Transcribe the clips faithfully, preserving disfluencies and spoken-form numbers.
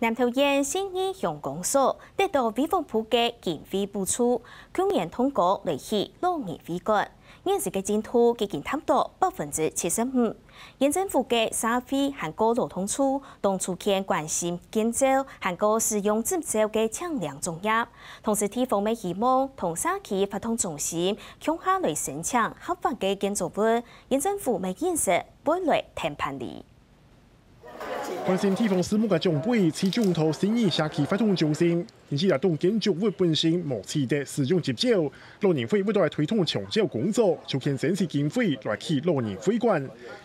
南投縣信義鄉公所得到衛福部个經費補助，舊年動工來起老人會館。現時个進度已經達到百分之七十五。縣政府个社會還過勞動處當初就關心建造還過使用執照个青年作業，同時地方乜希望同社區活動中心共下來申請合法个建築物，縣政府乜應承會來聽辦理。 關心地方事務个長輩，市長到信義社區活動中心，因為該棟建築物本身無取得使用執照，老人會為著推動長照工作，就肯申請經費來起老人會館。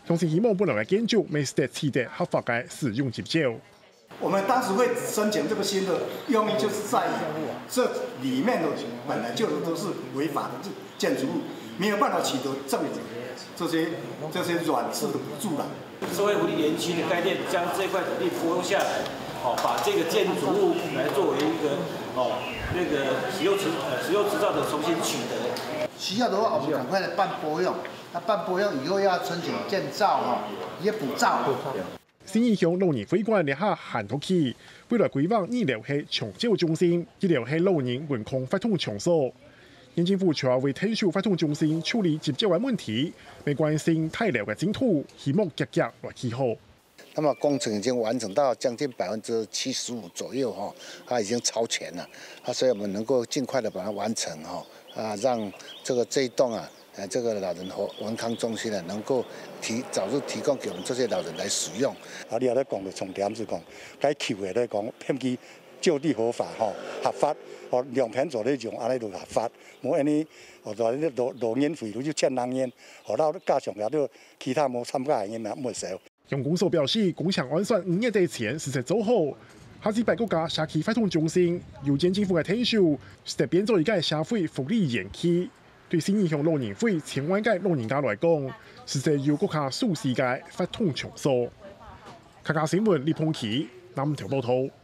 鄉親希望本來个建築乜得取得合法个使用執照。我們當時會申請這個新的用意，就是在於這裡面的本來就都是違法的建築物，沒有辦法取得政府這些這些軟式的補助了。 社會福利園區的概念，將這塊土地撥下來，哦，把這個建築物來作為一個，哦，那個使用執呃使用執照的重新取得。需要的話，我們趕快來辦撥用。那辦撥用以後要申請建造哈，一些補照。信義鄉老人會館這下還在起，未來規劃二樓係長照中心，一樓係老人文康活動場所。 縣政府除了為𢯭手活動中心處理執照个問題，乜關心大樓个進度，希望遽遽來起好。那麼工程已經完成到將近百分之七十五左右哈，它已經超前了，啊，所以我們能夠盡快的把它完成哈，啊，讓這個這一棟啊，呃，這個老人和文康中心呢，能夠提早日提供給我們這些老人來使用。啊，你也在講的重點是講，該求的來講，騙佢就地合法吼，合法，哦，兩片做得用，安尼就合法。 無恁呢，哦，就係老老人會就欠人煙，哦，然後加上也都其他無參加个人也毋會少。鄉公所表示，工程按算五月底前實在做好，下一擺國家社區活動中心由縣政府个𢯭手，實在變做一個社會福利園區。對信義鄉老人會千萬個老人家來講，實在有國家首創个活動場所。客家新聞李鵬奇南投報導。